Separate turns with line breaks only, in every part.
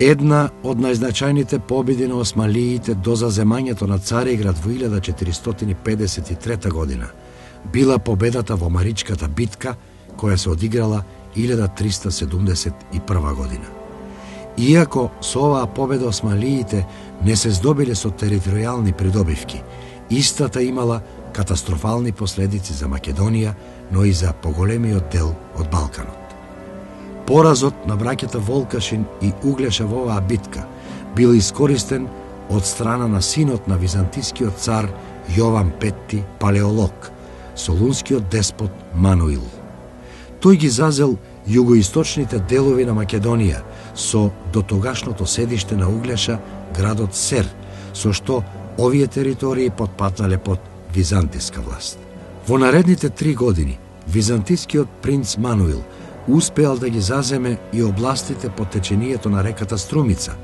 Една од најзначајните победи на османлиите до заземањето на Цариград во 1453 година била победата во Маричката битка, која се одиграла 1371 година. Иако со оваа победа османлиите не се здобиле со територијални придобивки, истата имала катастрофални последици за Македонија, но и за поголемиот дел од Балканот. Поразот на браќата Волкашин и Углеша во оваа битка бил искористен од страна на синот на византискиот цар Јован Петти Палеолог, солунскиот деспот Мануил. Тој ги зазел југоисточните делови на Македонија со дотогашното седиште на Углеша, градот Сер, со што овие територии потпаднале под византиска власт. Во наредните 3 години византискиот принц Мануил успеал да ги заземе и областите по течението на реката Струмица,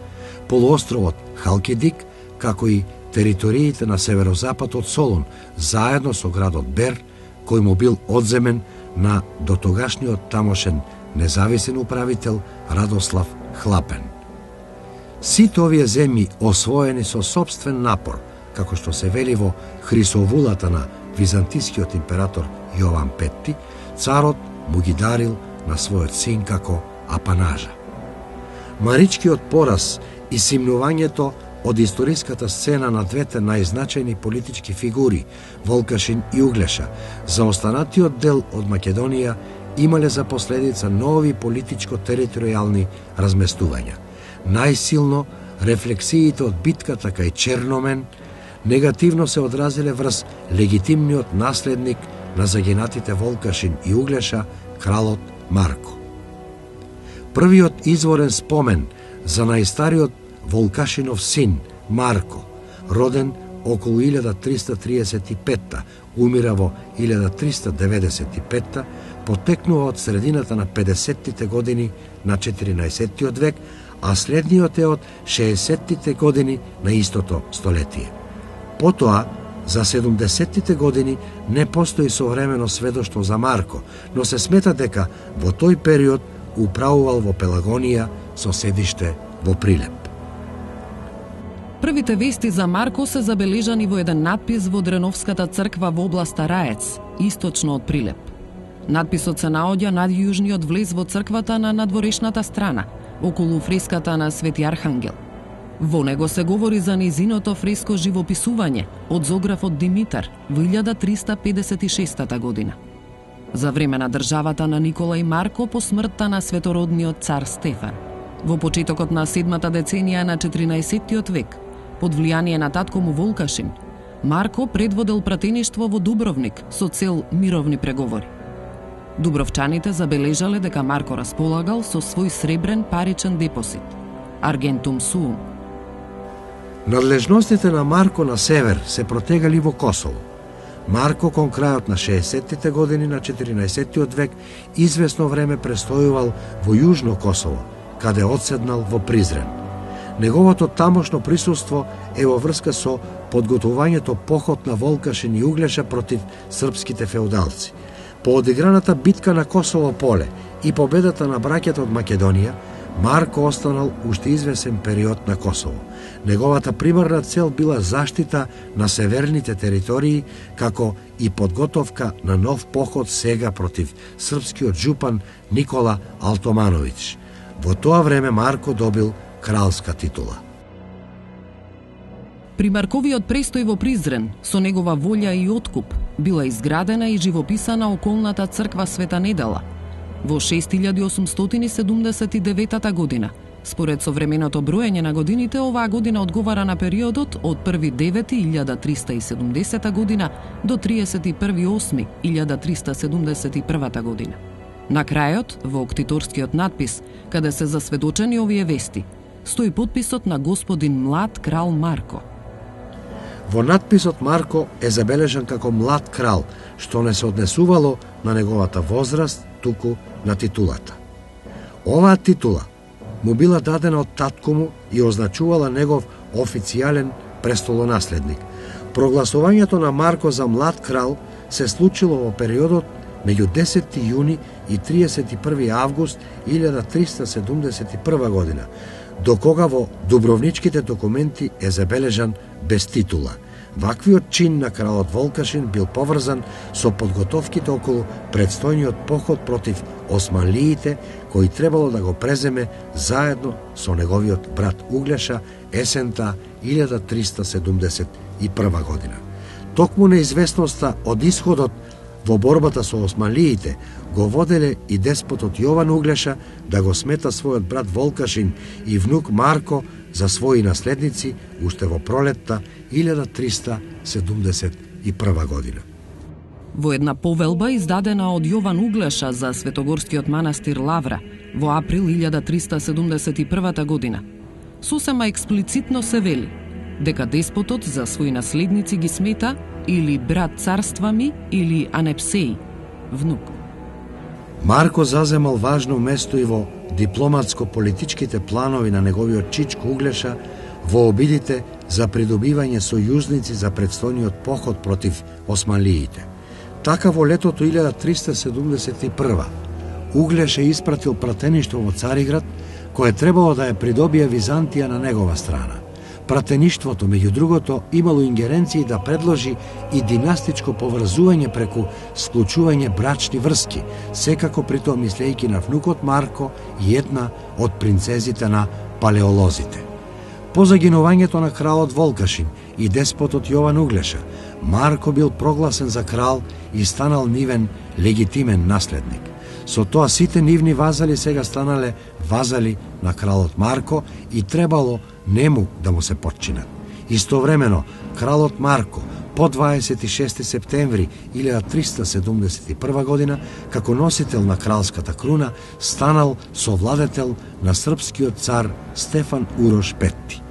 полуостровот Халкидик, како и териториите на северозапад од Солун, заедно со градот Бер, кој му бил одземен на дотогашниот тамошен независен управител Радослав Хлапен. Сите овие земји освоени со собствен напор, како што се вели во Хрисовулата на византискиот император Јован Петти, царот му ги дарил на својот син како апанажа. Маричкиот пораз и симнувањето од историската сцена на двете најзначајни политички фигури, Волкашин и Углеша, за останатиот дел од Македонија имале за последица нови политичко-територијални разместувања. Најсилно рефлексиите од битката кај Черномен негативно се одразиле врз легитимниот наследник на загинатите Волкашин и Углеша, кралот Марко. Првиот изворен спомен за најстариот Волкашинов син Марко, роден околу 1335, умира во 1395, потекнува од средината на 50-тите години на 14 век, а следниот е од 60-тите години на истото столетие. Потоа, за 70-тите години не постои современо сведоштво за Марко, но се смета дека во тој период управувал во Пелагонија со седиште во Прилеп.
Првите вести за Марко се забележани во еден надпис во Дреновската црква во областа Раец, источно од Прилеп. Надписот се наоѓа над јужниот влез во црквата на надворешната страна, околу фреската на Свети Архангел. Во него се говори за низиното фреско живописување од зографот Димитар во 1356 година. За време на државата на Никола и Марко по смртта на светородниот цар Стефан. Во почетокот на 7-та деценија на 14 век, под влијание на татко му Волкашин, Марко предводел пратеништво во Дубровник со цел мировни преговори. Дубровчаните забележале дека Марко располагал со свој сребрен паричен депозит, Аргентум Суум.
Надлежностите на Марко на север се протегали во Косово. Марко кон крајот на 60-тите години на 14 век извесно време престојувал во Јужно Косово, каде одседнал во Призрен. Неговото тамошно присуство е во врска со подготвувањето поход на Волкашин и Углеша против српските феудалци. По одиграната битка на Косово поле и победата на браќата од Македонија, Марко останал уште извесен период на Косово. Неговата примарна цел била заштита на северните територии, како и подготовка на нов поход сега против српскиот жупан Никола Алтомановиќ. Во тоа време Марко добил кралска титула.
При Марковиот престој во Призрен, со негова волја и откуп, била изградена и живописана околната црква Света Недела. Во 6879 година, според современото броење на годините, оваа година одговара на периодот од 1.9.1370 година до 31.8.1371 година. На крајот, во октиторскиот надпис, каде се засведочени овие вести, стои подписот на господин млад крал Марко.
Во надписот Марко е забележан како млад крал, што не се однесувало на неговата возраст, туку на титулата. Оваа титула му била дадена од татко му и означувала негов официјален престолонаследник. Прогласувањето на Марко за млад крал се случило во периодот меѓу 10 јуни и 31 август 1371 година, до кога во дубровничките документи е забележан без титула. Ваквиот чин на кралот Волкашин бил поврзан со подготовките околу предстојниот поход против османлиите, кој требало да го преземе заедно со неговиот брат Углеша есента 1371 година. Токму неизвестноста од исходот во борбата со османлиите го воделе и деспотот Јован Углеша да го смета својот брат Волкашин и внук Марко за своји наследници уште во пролетта 1371 година.
Во една повелба издадена од Јован Углеша за светогорскиот манастир Лавра во април 1371 година, сосема експлицитно се вели дека деспотот за своји наследници ги смета или брат царства ми или Анепсеј, внук.
Марко заземал важно место и во дипломатско-политичките планови на неговиот чичко Углеша во обидите за придобивање сојузници за предстојниот поход против османлиите. Така во летото 1371 Углеша испратил пратеништво во Цариград, кое требало да ја придобие Византија на негова страна. Пратеништвото, меѓу другото, имало ингеренции да предложи и династичко поврзување преку склучување брачни врски, секако при тоа мислејќи на внукот Марко и една од принцезите на палеолозите. По загинувањето на кралот Волкашин и деспотот Јован Углеша, Марко бил прогласен за крал и станал нивен легитимен наследник. Со тоа сите нивни вазали сега станале вазали на кралот Марко и требало нему да му се подчинат. Истовремено, кралот Марко по 26 септември 1371 година, како носител на кралската круна, станал совладетел на српскиот цар Стефан Урош Петти.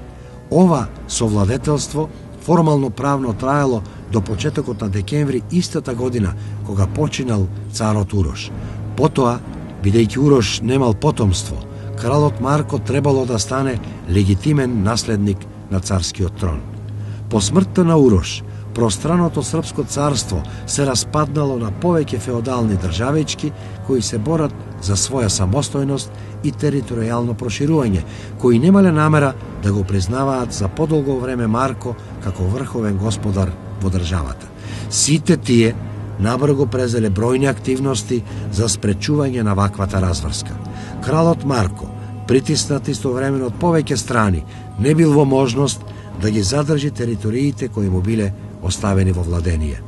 Ова совладетелство формално правно траело до почетокот на декември истата година, кога починал царот Урош. Потоа, бидејќи Урош немал потомство, кралот Марко требало да стане легитимен наследник на царскиот трон. По смртта на Урош, пространото српско царство се распаднало на повеќе феодални државички кои се борат за своја самостојност и територијално проширување, кои немале намера да го признаваат за подолго време Марко како врховен господар во државата. Сите тие набрзо презеле бројни активности за спречување на ваквата разврска. Кралот Марко, притиснат истовремено од повеќе страни, не бил во можност да ги задржи териториите кои му биле оставени во владение.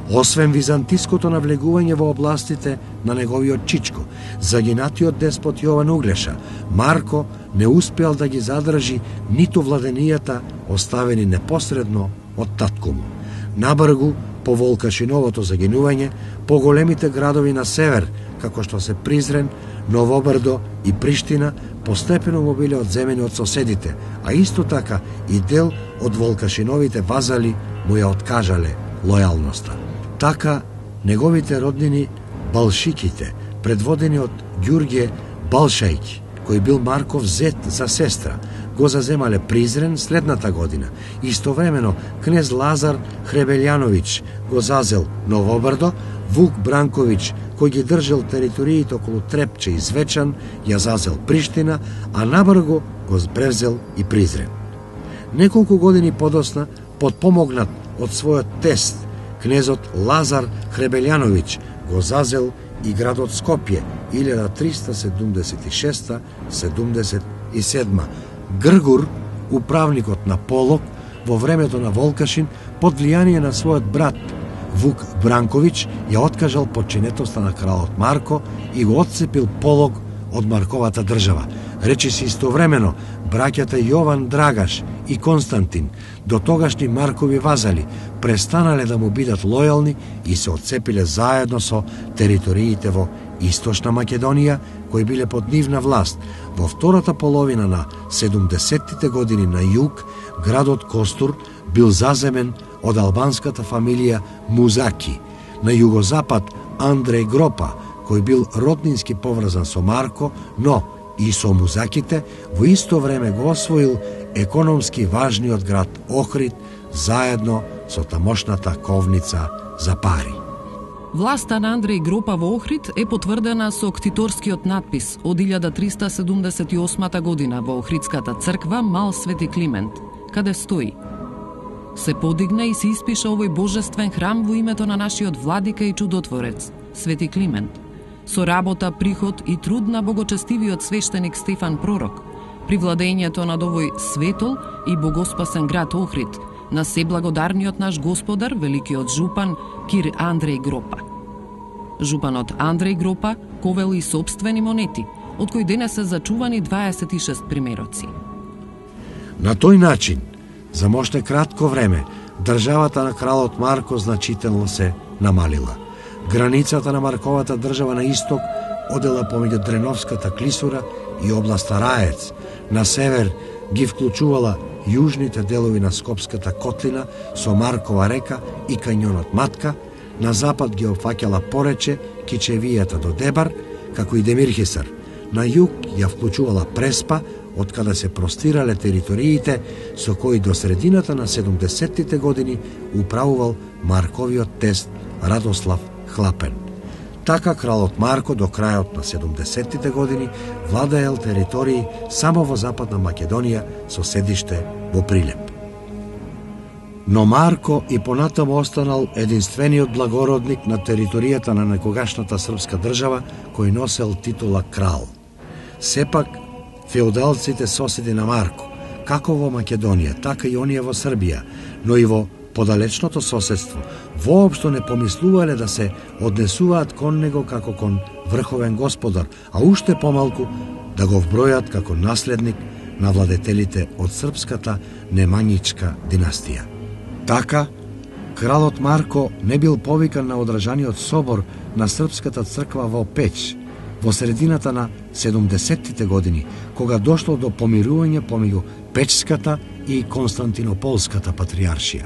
Освен византиското навлегување во областите на неговиот чичко, загинатиот деспот Јован Углеша, Марко не успеал да ги задржи ниту владенијата оставени непосредно од татко му. Набргу, по Волкашиновото загинување, по големите градови на север, како што се Призрен, Новобрдо и Приштина, постепено му биле одземени од соседите, а исто така и дел од Волкашиновите вазали му ја откажале лојалноста. Така, неговите роднини Балшиките, предводени од Ѓурѓе Балшајќ, кој бил Марков зет за сестра, го заземале Призрен следната година. Истовремено, кнез Лазар Хребелјановиќ го зазел Новобрдо, Вук Бранковиќ, кој ги држал териториите околу Трепче и Звечан, ја зазел Приштина, а набрзо го превзел и Призрен. Неколку години подосна, подпомогнат од својот тест, кнезот Лазар Хребелјановиќ го зазел и градот Скопје 1376-77. Гргур, управникот на Полог, во времето на Волкашин, под влијание на својот брат Вук Бранковиќ, ја откажал подчинетоста на кралот Марко и го отцепил Полог од Марковата држава. Речиси истовремено, браќата Јован Драгаш и Константин, до тогашни Маркови вазали, престанале да му бидат лојални и се отцепиле заедно со териториите во Источна Македонија, кои биле под нивна власт. Во втората половина на 70-тите години на југ, градот Костур бил заземен од албанската фамилија Музаки. На југозапад Андреј Гропа, кој бил роднински поврзан со Марко, но и со Музаките, во исто време го освоил економски важниот град Охрид, заедно со тамошната ковница за пари.
Власта на Андреј Гропа во Охрид е потврдена со ктиторскиот надпис од 1378 година во Охридската црква Мал Свети Климент, каде стои: се подигна и се испиша овој божествен храм во името на нашиот владика и чудотворец, Свети Климент, со работа, приход и труд на богочестивиот свештеник Стефан Пророк, при владењето над овој светол и богоспасен град Охрид, на себлагодарниот наш господар, великиот жупан Кир Андреј Гропа. Жупанот Андреј Гропа ковел и сопствени монети, од кои денес се зачувани 26 примероци.
На тој начин, за моште кратко време, државата на кралот Марко значително се намалила. Границата на Марковата држава на исток одела помеѓу Дреновската клисура и областа Раец. На север ги вклучувала јужните делови на Скопската котлина со Маркова река и кањонот Матка, на запад ги опфаќала Порече, Кичевијата до Дебар, како и Демирхисар. На југ ја вклучувала Преспа, од каде се простирале териториите со кои до средината на 70-тите години управувал Марковиот тест Радослав Хлапен. Така кралот Марко до крајот на 70-тите години владеел територии само во Западна Македонија со седиште во Прилеп. Но Марко и понатаму останал единствениот благородник на територијата на некогашната српска држава кој носел титула крал. Сепак, феудалците соседи на Марко, како во Македонија, така и оние во Србија, но и во подалечното соседство, воопшто не помислувале да се однесуваат кон него како кон врховен господар, а уште помалку да го вбројат како наследник на владетелите од српската немањичка династија. Така, кралот Марко не бил повикан на одржаниот собор на Српската црква во Пеќ, во средината на 70-тите години, кога дошло до помирување помеѓу Печската и Константинополската патријаршија.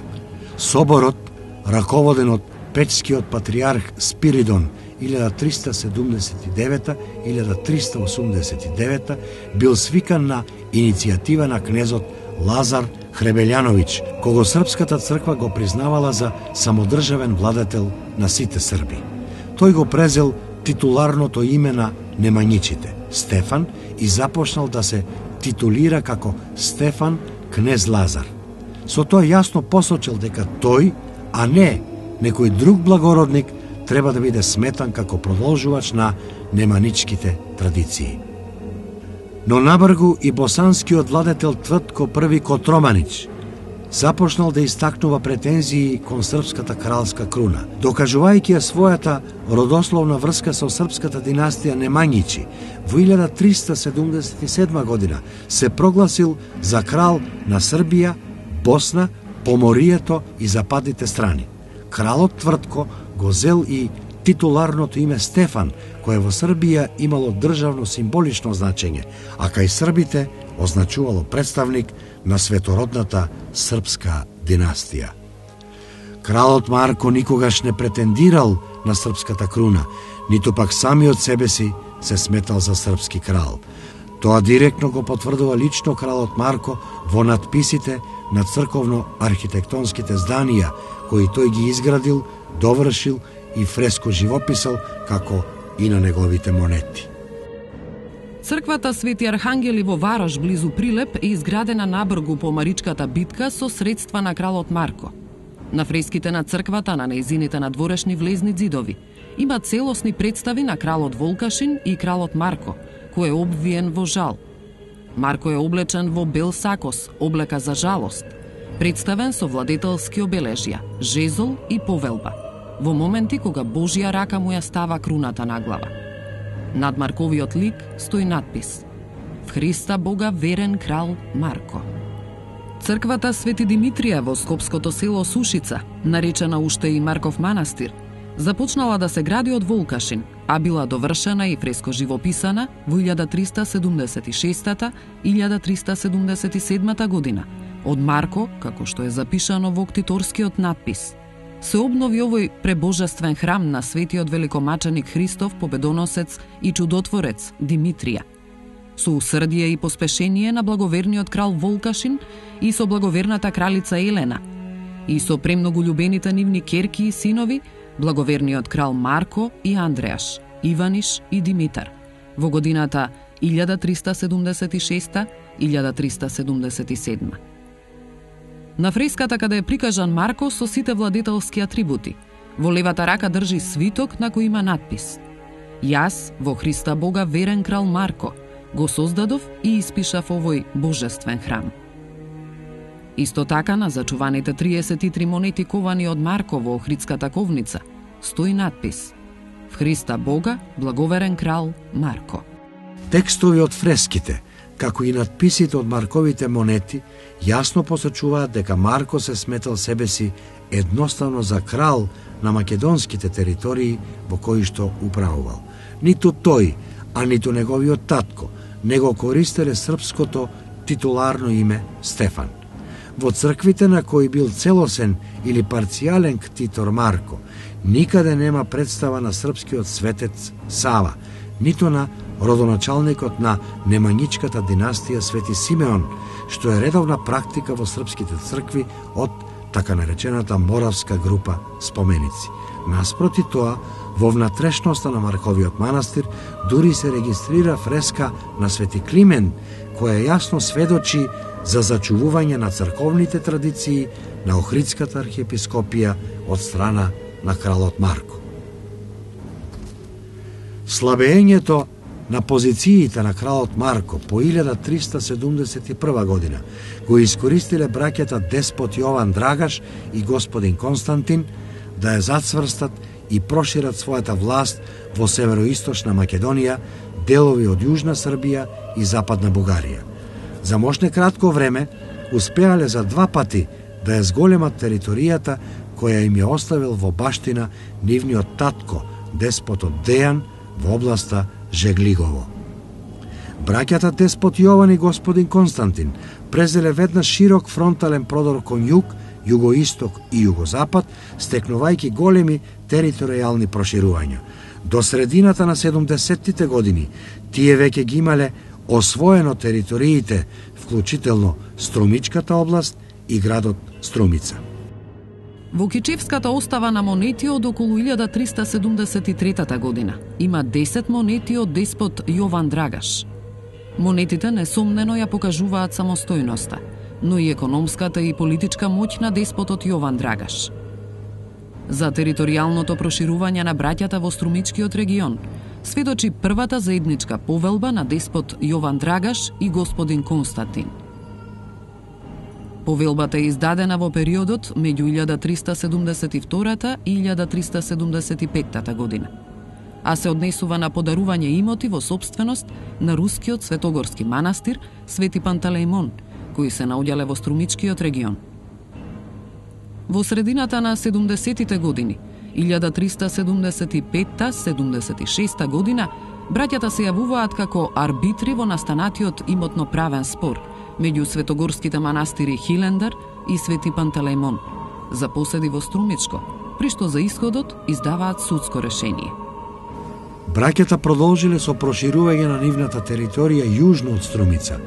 Соборот, раководен од печскиот патријарх Спиридон 1379-1389, бил свикан на иницијатива на кнезот Лазар Хребелјановиќ, кого Српската црква го признавала за самодржавен владетел на сите срби. Тој го презел титуларното име на немањичите, Стефан, и започнал да се титулира како Стефан кнез Лазар. Со тоа јасно посочил дека тој, а не некој друг благородник, треба да биде сметан како продолжувач на неманичките традиции. Но набргу и босанскиот владетел Твртко I Котроманич започнал да истакнува претензии кон српската кралска круна, докажувајќи ја својата родословна врска со српската династија Немањичи. Во 1377 година се прогласил за крал на Србија, Босна, Поморието и западните страни. Кралот Твртко го зел и титуларното име Стефан, кое во Србија имало државно символично значење, а кај србите означувало представник на светородната српска династија. Кралот Марко никогаш не претендирал на српската круна, ниту пак самиот себе си се сметал за српски крал. Тоа директно го потврдува лично кралот Марко во надписите на црковно-архитектонските зданија, кои тој ги изградил, довршил и фреско живописал, како и на неговите монети.
Црквата Свети Архангели во Варош, близу Прилеп, е изградена набргу по Маричката битка со средства на кралот Марко. На фреските на црквата, на нејзините надворешни влезни ѕидови, има целосни представи на кралот Волкашин и кралот Марко, кој е обвиен во жал. Марко е облечен во бел сакос, облека за жалост, представен со владетелски обележја, жезол и повелба, во моменти кога Божја рака му ја става круната на глава. Над Марковиот лик стои надпис: В Христа Бога верен крал Марко. Црквата Свети Димитрија во скопското село Сушица, наречена уште и Марков манастир, започнала да се гради од Волкашин, а била довршена и фреско живописана во 1376-1377 година од Марко, како што е запишано во ктиторскиот надпис. Се обнови овој пребожествен храм на светиот великомаченик Христов, победоносец и чудотворец Димитрија, со усрдие и поспешение на благоверниот крал Волкашин и со благоверната кралица Елена, и со премногу љубените нивни керки и синови, благоверниот крал Марко и Андреаш, Иваниш и Димитар, во годината 1376-1377. На фреската каде е прикажан Марко со сите владетелски атрибути, во левата рака држи свиток на кој има надпис: Јас, во Христа Бога верен крал Марко, го создадов и испишав овој божествен храм. Исто така на зачуваните 33 монети ковани од Марко во Охридската ковница стои надпис: В Христа Бога, благоверен крал Марко.
Текстови од фреските, како и надписите од Марковите монети, јасно посочуваат дека Марко се сметал себе си едноставно за крал на македонските територии во кои што управувал. Ниту тој, а ниту неговиот татко не го користеле српското титуларно име Стефан. Во црквите на кои бил целосен или парцијален ктитор Марко, никаде нема представа на српскиот светец Сава, ниту на родоначалникот на неманичката династија Свети Симеон, што е редовна практика во српските цркви од така наречената Моравска група споменици. Наспроти тоа, во внатрешноста на Марковиот манастир дури се регистрира фреска на Свети Климент, која јасно сведочи за зачувување на црковните традиции на Охридската архиепископија од страна на кралот Марко. Слабењето на позициите на кралот Марко по 1371 година го искористиле браќата деспот Јован Драгаш и господин Константин да ја зацврстат и прошират својата власт во североисточна Македонија, делови од Јужна Србија и Западна Бугарија. За мошне кратко време успеале за 2 пати да ја зголемат територијата која им ја оставил во баштина нивниот татко, деспотот Дејан, во областа Жеглигово. Браќата деспот Јован и господин Константин презеле веднаш широк фронтален продор кон југ, југоисток и југозапад, стекнувајќи големи територијални проширувања. До средината на 70-тите години тие веќе ги имале освоено териториите, вклучително Струмичката област и градот Струмица.
Во Кичевската остава на монети од околу 1373 година има 10 монети од деспот Јован Драгаш. Монетите несомнено ја покажуваат самостојноста, но и економската и политичка моќ на деспотот Јован Драгаш. За територијалното проширување на браќата во Струмичкиот регион сведочи првата заедничка повелба на деспот Јован Драгаш и господин Константин. Повелбата е издадена во периодот меѓу 1372 и 1375 година, а се однесува на подарување имоти во сопственост на рускиот светогорски манастир Свети Пантелеимон, кои се наоѓале во Струмичкиот регион. Во средината на 70-тите години, 1375-76 година, браќата се јавуваат како арбитри во настанатиот имотно-правен спор меѓу светогорските манастири Хилендар и Свети Пантелеимон за поседи во Струмичко, при што за исходот издаваат судско решение.
Браќата продолжиле со проширување на нивната територија јужно од Струмица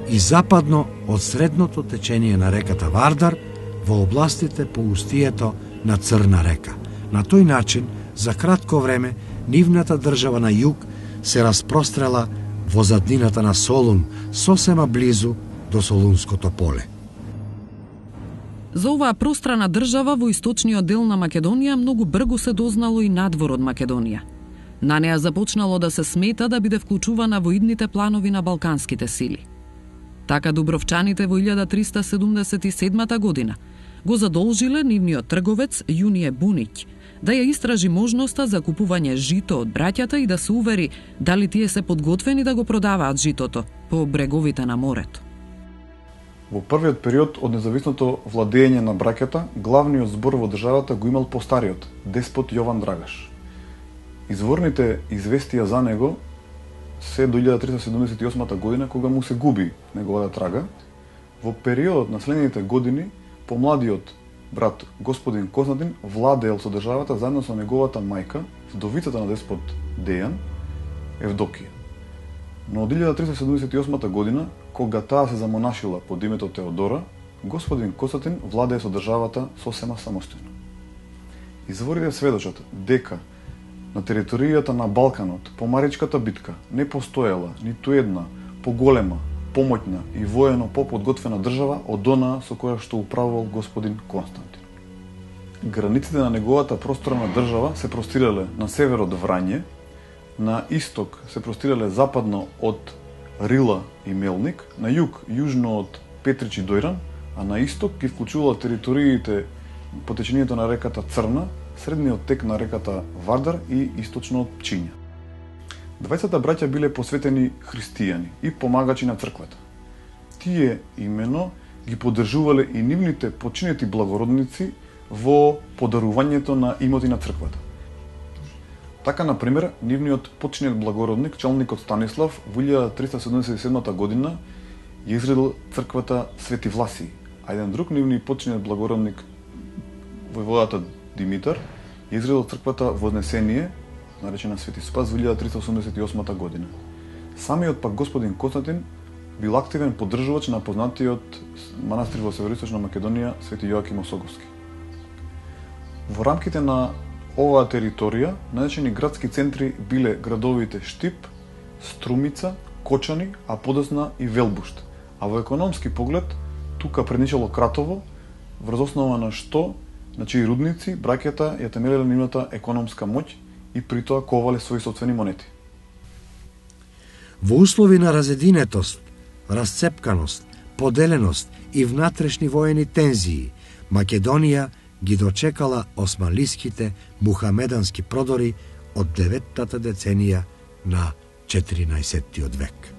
и западно од средното течение на реката Вардар во областите по устието на Црна река. На тој начин, за кратко време, нивната држава на југ се распрострела во заднината на Солун, сосема близу до Солунското поле.
За оваа пространа држава во источниот дел на Македонија многу брзо се дознало и надвор од Македонија. На неа започнало да се смета да биде вклучувана во идните планови на балканските сили. Така дубровчаните во 1377 година го задолжиле нивниот трговец Јунije Буниќ да ја истражи можноста за купување жито од браќата и да се увери дали тие се подготвени да го продаваат житото по бреговите на морето.
Во првиот период од независното владење на браќата, главниот збор во државата го имал постариот, деспот Јован Драгаш. Изворните известија за него се до 1378 година, кога му се губи неговата трага. Во периодот на следните години, помладиот брат господин Константин владеел со државата заедно со неговата мајка, вдовицата на деспот Дејан, Евдокија. Но од 1378 година, кога таа се замонашила под името Теодора, господин Константин владее со државата сосема самостојно. Изворите сведочат дека на територијата на Балканот по Маричката битка не постоела ниту една поголема, помоќна и воено поподготвена држава од онаа со која што управувал господин Константин. Границите на неговата просторна држава се простирале на север од Врање, на исток се простирале западно од Рила и Мелник, на југ јужно од Петрич и Дојран, а на исток ги вклучувала териториите по течението на реката Црна, средниот тек на реката Вардар и источно од Пчиња. Двајцата браќа биле посветени христијани и помагачи на црквата. Тие имено ги поддржувале и нивните починети благородници во подарувањето на имоти на црквата. Така, например, нивниот починет благородник, челникот Станислав, во 1377 година ја изградил црквата Свети Власии, а еден друг нивни починет благородник, војводата Димитар, ја изградил црквата Вознесение, наречена Свети Спас, во 1388 година. Самиот пак господин Константин бил активен поддржувач на познатиот манастир во североисточна Македонија Свети Јоаким Осоговски. Во рамките на оваа територија, најзначајни градски центри биле градовите Штип, Струмица, Кочани, а подосна и Велбушт. А во економски поглед, тука предничало Кратово, врз основа на што, на чии рудници, браќата ја темелеле нивната економска моќ и при тоа ковале своји собствени монети.
Во услови на разединетост, расцепканост, поделеност и внатрешни воени тензии, Македонија ги дочекала османлиските мухамедански продори од 9-та деценија на 14-тиот век.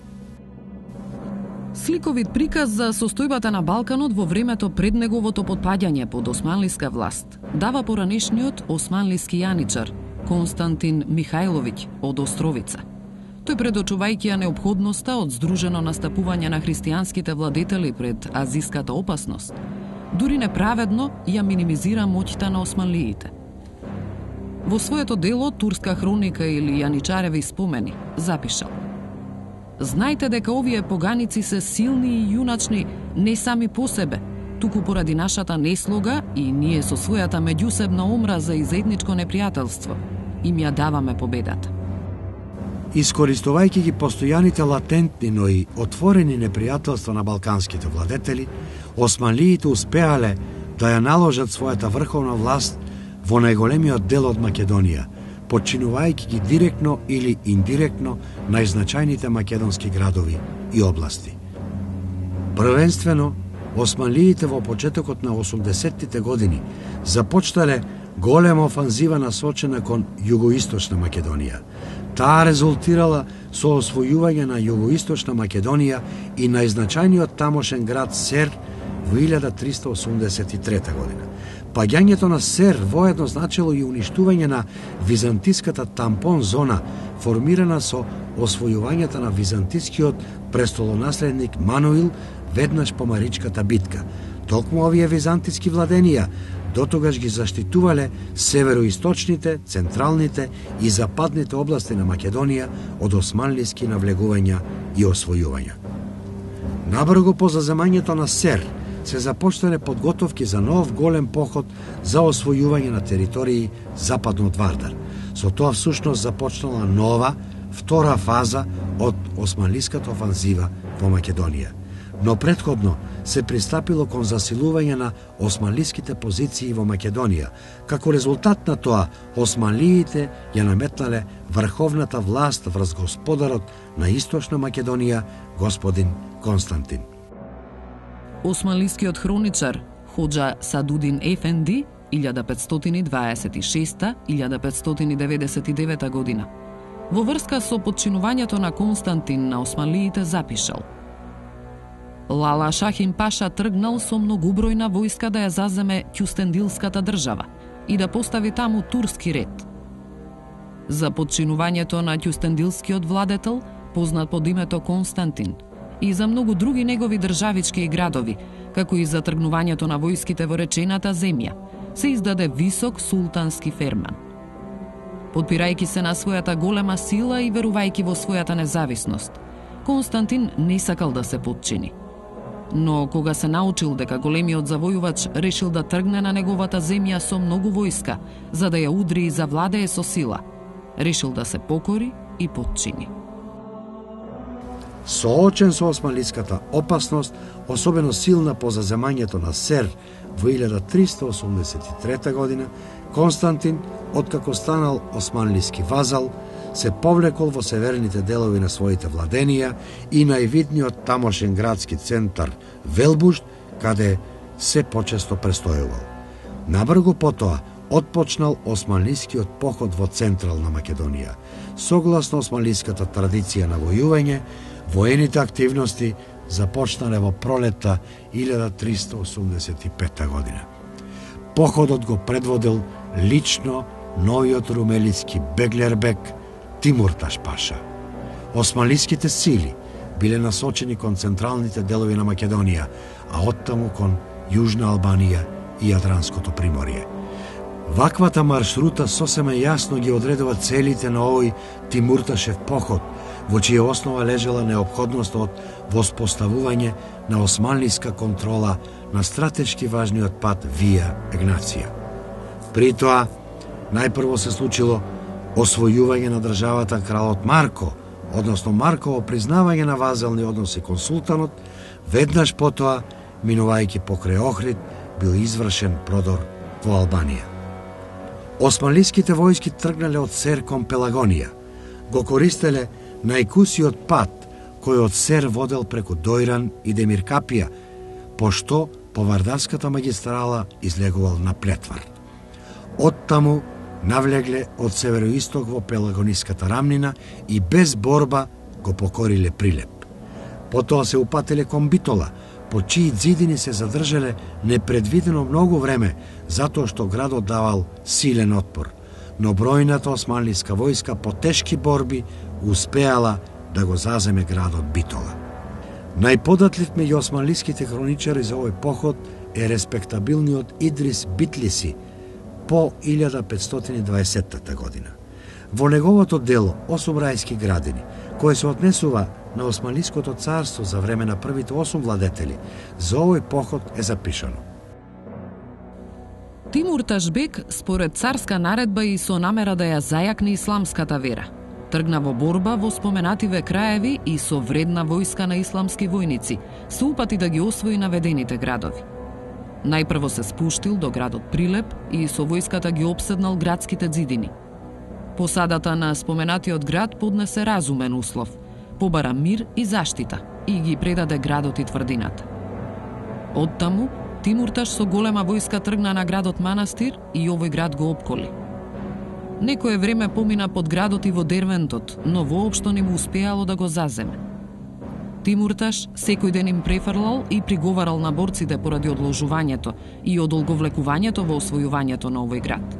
Сликовит приказ за состојбата на Балканот во времето пред неговото потпаѓање под османлиска власт дава поранешниот османлиски јаничар Константин Михајловиќ од Островица. Тој предочувајќи ја неопходноста од здружено настапување на христијанските владетели пред азиската опасност, дури неправедно ја минимизира моќта на османлиите. Во своето дело Турска хроника или Јаничареви спомени запишал: знајте дека овие поганици се силни и јуначни не сами по себе, туку поради нашата неслога и ние со својата меѓусебна омраза и заедничко непријателство им ја даваме победата.
Искористувајќи ги постојаните латентни, но и отворени непријателства на балканските владетели, османлиите успеале да ја наложат својата врховна власт во најголемиот дел од Македонија, подчинувајќи ги директно или индиректно најзначајните македонски градови и области. Првенствено, османлиите во почетокот на 80-тите години започнале голема офанзива насочена кон југоисточна Македонија. Таа резултирала со освојување на југоисточна Македонија и најзначајниот тамошен град Сер во 1383 година. Паѓањето на Сер воедно значило и уништување на византиската тампон зона, формирана со освојувањето на византискиот престолонаследник Мануил веднаш по Маричката битка. Токму овие византиски владенија дотогаш ги заштитувале североисточните, централните и западните области на Македонија од османлиски навлегувања и освојувања. Набрзо по заземањето на Сер се започнале подготовки за нов голем поход за освојување на територии западно од Вардар. Со тоа всушност започнала нова, втора фаза од османлиската офанзива во Македонија. Но претходно се пристапило кон засилување на османлиските позиции во Македонија. Како резултат на тоа, османлиите ја наметнале врховната власт врз господарот на Источна Македонија, господин Константин.
Османлискиот хроничар Хоџа Садудин Ефенди 1526-1599 година во врска со подчинувањето на Константин на османлиите запишал: Лала Шахин Паша тргнал со многубројна војска да ја заземе Кюстендилската држава и да постави таму турски ред. За подчинувањето на Кюстендилскиот владетел, познат под името Константин, и за многу други негови државички и градови, како и за тргнувањето на војските во речената земја, се издаде висок султански ферман. Подпирајќи се на својата голема сила и верувајќи во својата независност, Константин не сакал да се подчини. но кога се научил дека големиот завојувач решил да тргне на неговата земја со многу војска, за да ја удри и завладее со сила, решил да се покори и потчини.
Соочен со османлиската опасност, особено силна по заземањето на Сер во 1383 година, Константин, откако станал османлиски вазал, се повлекол во северните делови на своите владенија и највидниот тамошен градски центар Велбушт, каде се почесто престојувал. Набрзо потоа отпочнал османлискиот поход во Централна Македонија. Согласно османлиската традиција на војување, воените активности започнале во пролетта 1385 година. Походот го предводел лично новиот румелиски Беглербек Тимурташ паша. Османлиските сили биле насочени кон централните делови на Македонија, а оттаму кон Јужна Албанија и Јадранското приморје. Ваквата маршрута сосема јасно ги одредува целите на овој Тимурташев поход, во чија основа лежала неопходност од воспоставување на османлиска контрола на стратешки важниот пат Вија Егнација. При тоа, најпрво се случило освојување на државата кралот Марко, односно Марково признавање на вазални односи кон султанот, веднаш потоа, минувајќи покрај Охрид, бил извршен продор во Албанија. Османлиските војски тргнале од Сер кон Пелагонија, го користеле најкусиот пат кој од Сер водел преку Дојран и Демиркапија, пошто по Вардарската магистрала излегувал на Плетвар. Оттаму навлегле од североисток во Пелагониската рамнина и без борба го покориле Прилеп. Потоа се упателе кон Битола, по чии ѕидини се задржале непредвидено многу време, затоа што градот давал силен отпор, но бројната османлиска војска по тешки борби успеала да го заземе градот Битола. Најподатлив меѓу османлиските хроничари за овој поход е респектабилниот Идрис Битлиси по 1520 година. Во неговото дело 8 рајски градини, кое се однесува на Османлиското царство за време на првите 8 владетели, за овој поход е запишано.
Тимурташ бек, според царска наредба и со намера да ја зајакне исламската вера, тргна во борба во споменативе краеви и со вредна војска на исламски војници, се упати да ги освои наведените градови. Најпрво се спуштил до градот Прилеп и со војската ги опседнал градските ѕидини. Посадата на споменатиот град поднесе разумен услов, побара мир и заштита и ги предаде градот и тврдината. Оттаму, Тимурташ со голема војска тргна на градот Манастир и овој град го опколи. Некое време помина под градот и во Дервентот, но воопшто не му успеало да го заземе. Тимурташ секој ден им префрлал и приговарал на борците поради одложувањето и одолговлекувањето во освојувањето на овој град,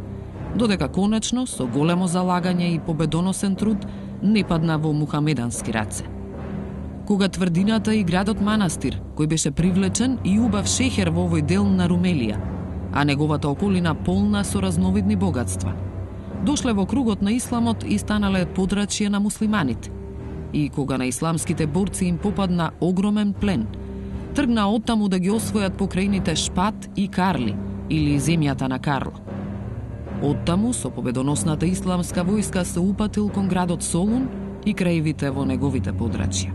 додека конечно, со големо залагање и победоносен труд, не падна во мухамедански раце. Кога тврдината и градот Манастир, кој беше привлечен и убав шеќер во овој дел на Румелија, а неговата околина полна со разновидни богатства, дошле во кругот на исламот и станале подрачје на муслиманите. И кога на исламските борци им попадна огромен плен, тргна оттаму да ги освојат покрајните Шпат и Карли, или земјата на Карло. Оттаму со победоносната исламска војска се упатил кон градот Солун и краевите во неговите подрачја.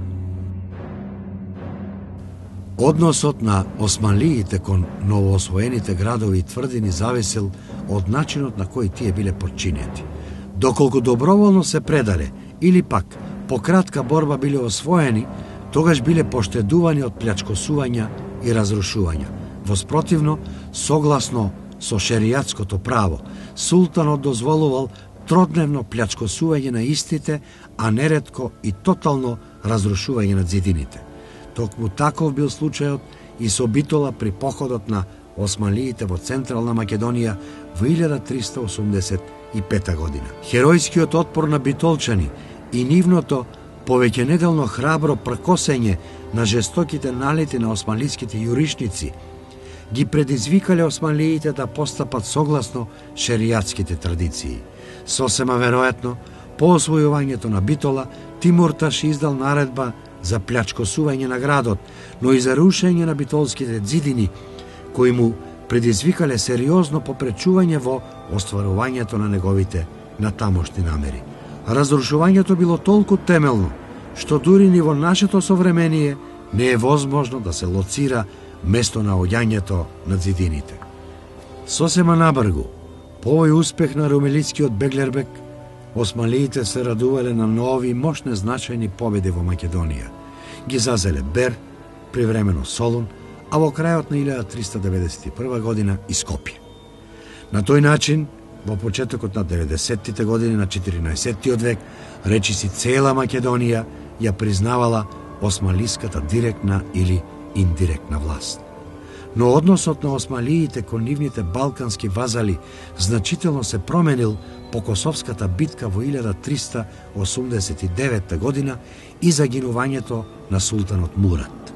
Односот на османлиите кон новоосвоените градови и тврдини зависел од начинот на кој тие биле подчинети. Доколку доброволно се предале или пак по кратка борба биле освоени, тогаш биле поштедувани од плячкосувања и разрушувања. Воспротивно, согласно со шеријатското право, султанот дозволувал тродневно плячкосување на истите, а неретко и тотално разрушување на ѕидините. Токму таков бил случајот и со Битола при походот на османлиите во Централна Македонија во 1385 година. Херојскиот отпор на битолчани и нивното повеќенеделно храбро пркосење на жестоките налети на османлиските јуришници ги предизвикале османлиите да постапат согласно шеријатските традиции. Сосема веројатно, по освојувањето на Битола, Тимурташ издал наредба за плячкосување на градот, но и за рушење на битолските ѕидини, кои му предизвикале сериозно попречување во остварувањето на неговите натамошни намери. Разрушувањето било толку темелно, што дури ни во нашето современие не е возможно да се лоцира место наоѓањето на ѕидините. Сосема набргу, по овој успех на румелискиот Беглербек, османлиите се радувале на нови мощни значајни победи во Македонија. Ги зазеле Бер, привремено Солун, а во крајот на 1391 година и Скопје. На тој начин, во почетокот на 90-тите години на 14-тиот век, речиси цела Македонија ја признавала османлиската директна или индиректна власт. Но односот на османлиите кон нивните балкански вазали значително се променил по Косовската битка во 1389 година и загинувањето на султанот Мурат.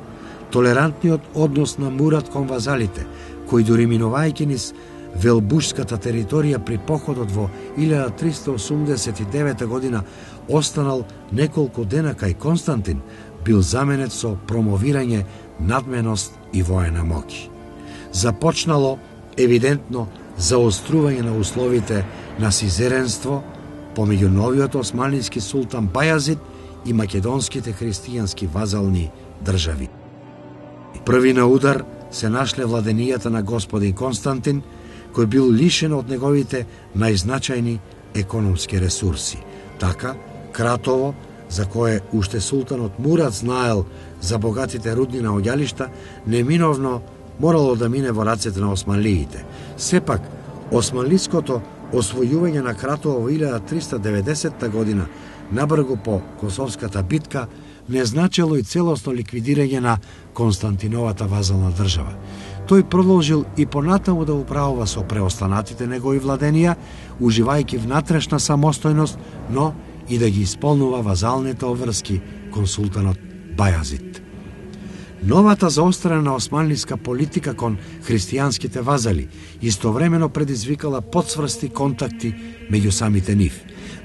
Толерантниот однос на Мурат кон вазалите, кој дури минувајќи низ велбушската територија при походот во 1389 година останал неколку дена кај Константин, бил заменет со промовирање надменост и воена моќ. Започнало евидентно заострување на условите на сизеренство помеѓу новиот османлиски султан Бајазид и македонските христијански вазални држави. Први на удар се нашле владенијата на господин Константин, кој бил лишен од неговите најзначајни економски ресурси. Така, Кратово, за кое уште султанот Мурат знаел за богатите рудни наоѓалишта, неминовно морало да мине во рацете на османлиите. Сепак, османлиското освојување на Кратово во 1390 година набргу по Косовската битка не значело и целосно ликвидирање на Константиновата вазална држава. Тој продолжил и понатаму да управува со преостанатите негови владенија, уживајќи внатрешна самостојност, но и да ги исполнува вазалните обврски кон султанот Бајазид. Новата заострена османлиска политика кон христијанските вазали истовремено предизвикала подсврсти контакти меѓу самите нив.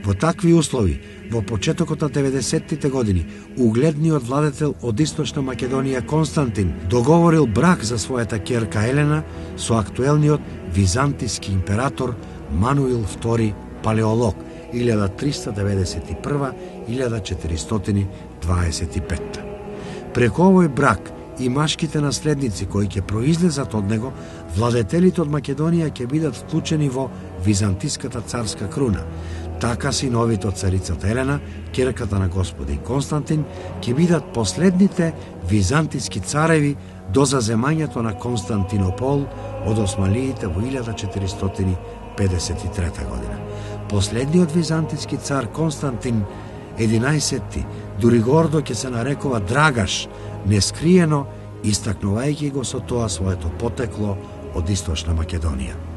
Во такви услови, во почетокот на 90-тите години, угледниот владетел од Источна Македонија Константин договорил брак за својата ќерка Елена со актуелниот византиски император Мануил II Палеолог 1391-1425. Преку овој брак и машките наследници кои ќе произлезат од него, владетелите од Македонија ќе бидат вклучени во византиската царска круна. Така синовите од царицата Елена, ќерката на господин Константин, ќе бидат последните византиски цареви до заземањето на Константинопол од османлиите во 1453 година. Последниот византиски цар Константин 11, дури гордо ќе се нарекува Драгаш, нескриено истакнувајќи го со тоа своето потекло од Источна Македонија.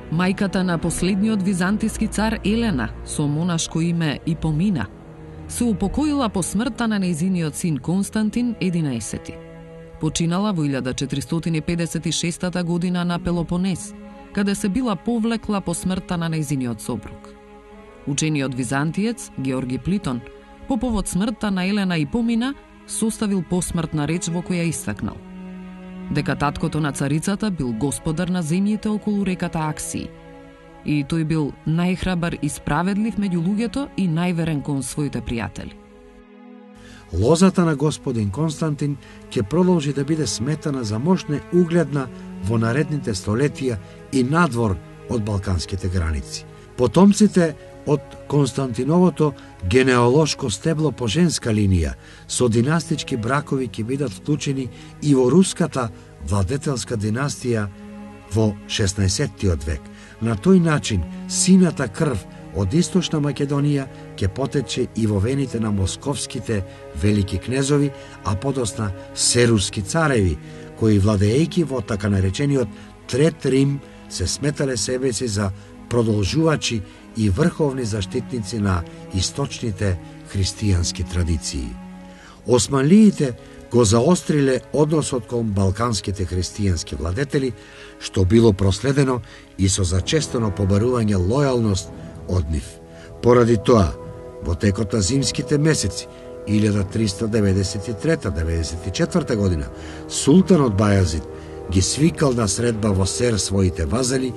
Мајката на последниот византиски цар Елена, со монашко име Ипомина, се упокоила по смртта на нејзиниот син Константин 11. Починала во 1456 година на Пелопонес, каде се била повлекла по смртта на нејзиниот сопруг. Учениот византиец Георги Плитон, по повод смртта на Елена Ипомина, составил посмртна реч во која истакнал дека таткото на царицата бил господар на земјите околу реката Аксии и тој бил најхрабар и справедлив меѓу луѓето и најверен кон своите пријатели.
Лозата на господин Константин ќе продолжи да биде сметана за мощна угледна во наредните столетија и надвор од балканските граници. Потомците од Константиновото генеалошко стебло по женска линија со династички бракови ќе бидат вклучени и во руската владетелска династија во 16-тиот век. На тој начин сината крв од Источна Македонија ќе потече и во вените на московските велики кнезови, а подосна серуски цареви, кои владеејќи во така наречениот Трет Рим се сметале себеси за продолжувачи и врховни заштитници на источните христијански традиции. Османлиите го заостриле односот кон балканските христијански владетели, што било проследено и со зачестено побарување лојалност од нив. Поради тоа, во текот на зимските месеци 1393-94 година султанот Бајазид ги свикал на средба во Сер своите вазали,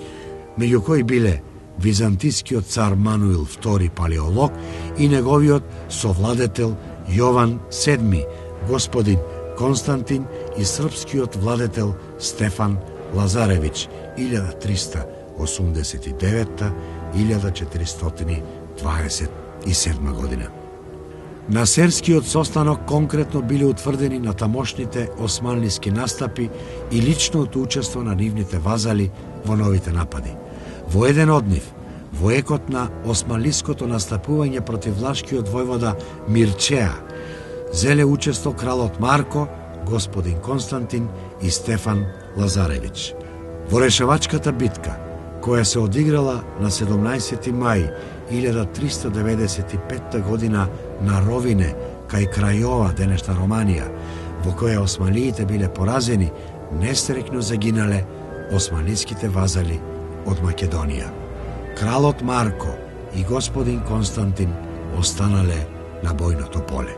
меѓу кои биле византискиот цар Мануил II Палеолог и неговиот совладетел Јован VII, господин Константин и српскиот владетел Стефан Лазаревич 1329-1427 година. На Серскиот состанок конкретно биле утврдени на тамошните османлиски настапи и личното учество на нивните вазали во новите напади. Во еден од нив, во екот на османлиското настапување против влашкиот војвода Мирчеа, зеле учество кралот Марко, господин Константин и Стефан Лазаревич. Во решавачката битка, која се одиграла на 17. мај 1395 година на Ровине, кај Крајова, денешна Романија, во која османлиите биле поразени, нестрекно загинале османлиските вазали од Македонија. Кралот Марко и господин Константин останале на бојното поле.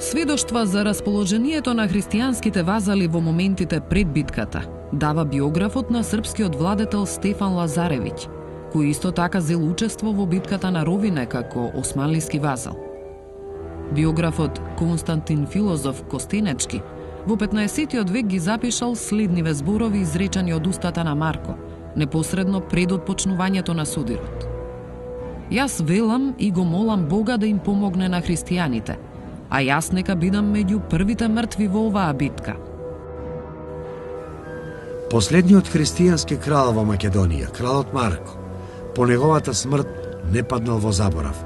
Сведоштва за расположението на христијанските вазали во моментите пред битката дава биографот на српскиот владетел Стефан Лазаревиќ, кој исто така зел учество во битката на Ровине како османлиски вазал. Биографот Константин Филозоф Костенечки во 15-тиот век ги запишал следниве зборови изречени од устата на Марко, непосредно пред отпочнувањето на судирот. Јас велам и го молам Бога да им помогне на христијаните, а јас нека бидам меѓу првите мртви во оваа битка.
Последниот христијански крал во Македонија, кралот Марко, по неговата смрт не паднал во заборав.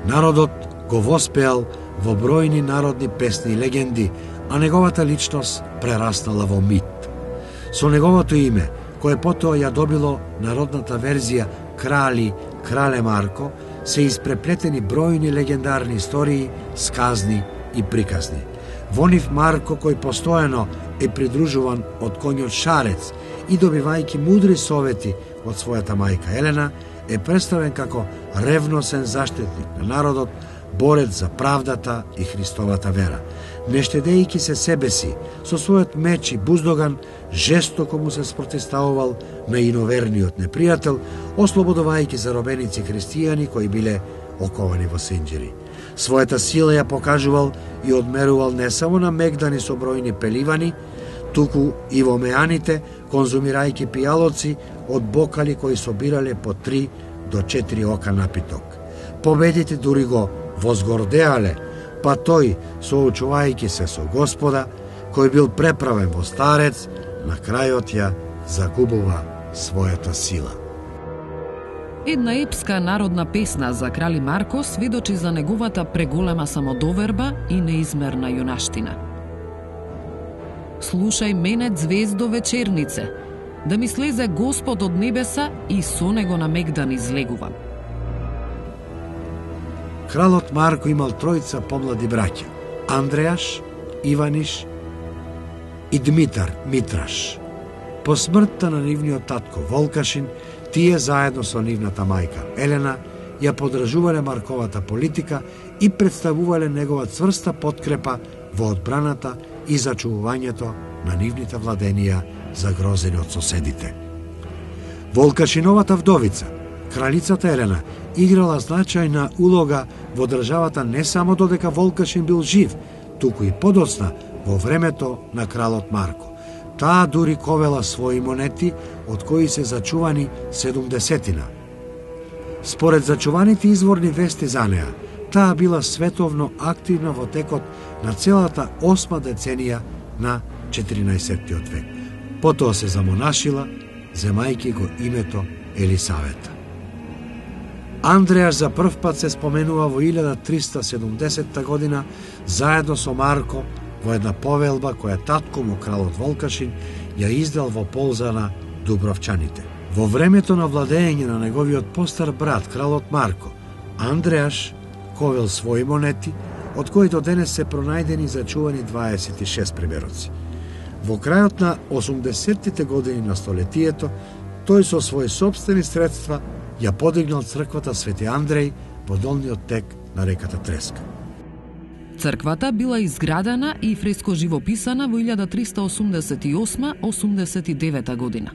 Народот го воспеал во бројни народни песни и легенди, а неговата личност прераснала во мит. Со неговото име, кое потоа ја добило народната верзија Крали, Крале Марко, се испреплетени бројни легендарни истории, сказни и приказни. Во нив Марко, кој постојано е придружуван од коњот Шарец и добивајќи мудри совети од својата мајка Елена, е представен како ревносен заштитник на народот, борец за правдата и Христовата вера. Не штедејќи се себе си, со својот меч и буздоган, жестоко му се спротиставувал на иноверниот непријател, ослободувајќи заробеници христијани кои биле оковани во синџири. Својата сила ја покажувал и одмерувал не само на мегдани со бројни пеливани, туку и во меаните, конзумирајќи пијалоци од бокали кои собирале по 3 до 4 ока напиток. Победите дури го возгордеале, па тој, соочувајќи се со Господа, кој бил преправен во старец, на крајот ја загубува својата сила.
Една епска народна песна за крали Марко сведочи за неговата преголема самодоверба и неизмерна јунаштина. Слушај мене, звездо вечернице, да ми слезе Господ од небеса и со него на мегдан излегувам.
Кралот Марко имал тројца помлади браќа: Андреаш, Иваниш и Дмитар Митраш. По смртта на нивниот татко Волкашин, тие заедно со нивната мајка Елена ја поддржувале Марковата политика и представувале негова цврста подкрепа во одбраната и зачувувањето на нивните владенија загрозени од соседите. Волкашиновата вдовица, кралицата Елена, играла значајна улога во државата не само додека Волкашин бил жив, туку и подоцна во времето на кралот Марко. Таа дури ковела своји монети, од кои се зачувани 70-тина. Според зачуваните изворни вести за неа, таа била световно активна во текот на целата 8 деценија на 14-тиот век. Потоа се замонашила, земајќи го името Елисавета. Андреаш за прв пат се споменува во 1370 година заедно со Марко во една повелба која татко му кралот Волкашин ја издал во полза на Дубровчаните. Во времето на владење на неговиот постар брат кралот Марко, Андреаш ковел своји монети, од кои до денес се пронајдени зачувани 26 примероци. Во крајот на 80-тите години на столетието, тој со своји сопствени средства ја подигнал црквата Свети Андреј во долниот тек на реката Треска.
Црквата била изградена и фреско живописана во 1388-89 година.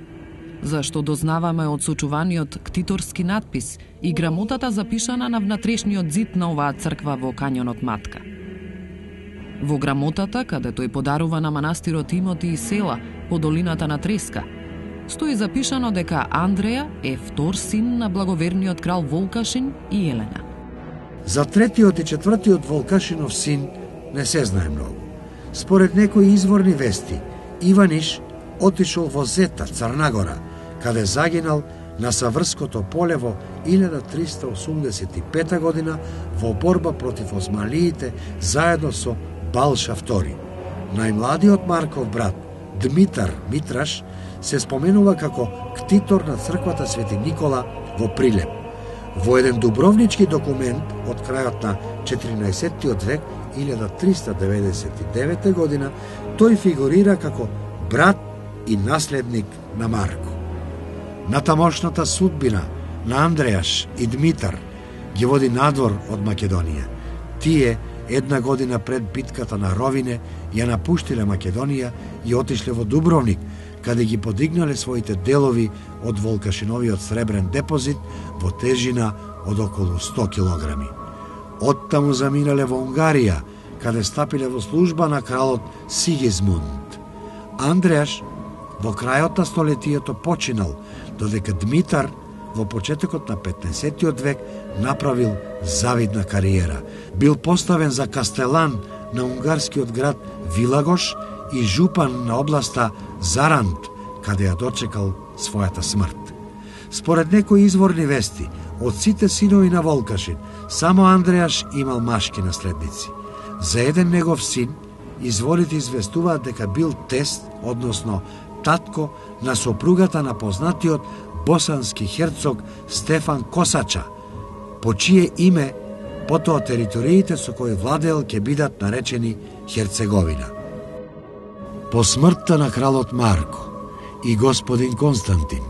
Зашто дознаваме од сочуваниот ктиторски надпис и грамотата запишана на внатрешниот зид на оваа црква во Кањонот Матка. Во грамотата, каде тој подарува на манастирот имоти и села по долината на Треска, стои запишано дека Андреја е втор син на благоверниот крал Волкашин и Елена.
За третиот и четвртиот Волкашинов син не се знае многу. Според некои изворни вести, Иваниш отишол во Зета, Црнагора, каде загинал на Саврското поле во 1385 година во борба против османлиите заедно со Балша II. Најмладиот Марков брат, Дмитар Митраш, се споменува како ктитор на црквата Свети Никола во Прилеп. Во еден дубровнички документ од крајот на 14 век, 1399 година, тој фигурира како брат и наследник на Марко. Натамошната судбина на Андрејаш и Дмитар ги води надвор од Македонија. Тие, една година пред битката на Ровине, ја напуштиле Македонија и отишле во Дубровник, каде ги подигнале своите делови од Волкашиновиот сребрен депозит во тежина од околу 100 килограми. Оттаму заминале во Унгарија, каде стапиле во служба на кралот Сигизмунд. Андрејаш во крајот на столетието починал, додека Дмитар во почетокот на 15 век направил завидна кариера. Бил поставен за кастелан на унгарскиот град Вилагош и жупан на областа Зарант, каде ја дочекал својата смрт. Според некои изворни вести, од сите синови на Волкашин, само Андрејаш имал машки наследници. За еден негов син, изворите известуваат дека бил тест, односно татко на сопругата на познатиот босански херцог Стефан Косача, по чие име потоа териториите со кои владеел ќе бидат наречени Херцеговина. По смртта на кралот Марко и господин Константин,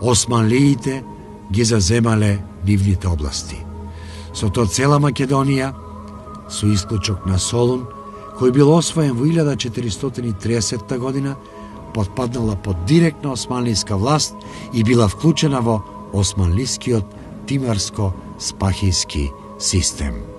османлиите ги заземале нивните области. Со тоа цела Македонија, со исклучок на Солун, кој бил освоен во 1430 година, подпаднала под директна османлиска власт и била вклучена во османлискиот тимарско-спахиски систем.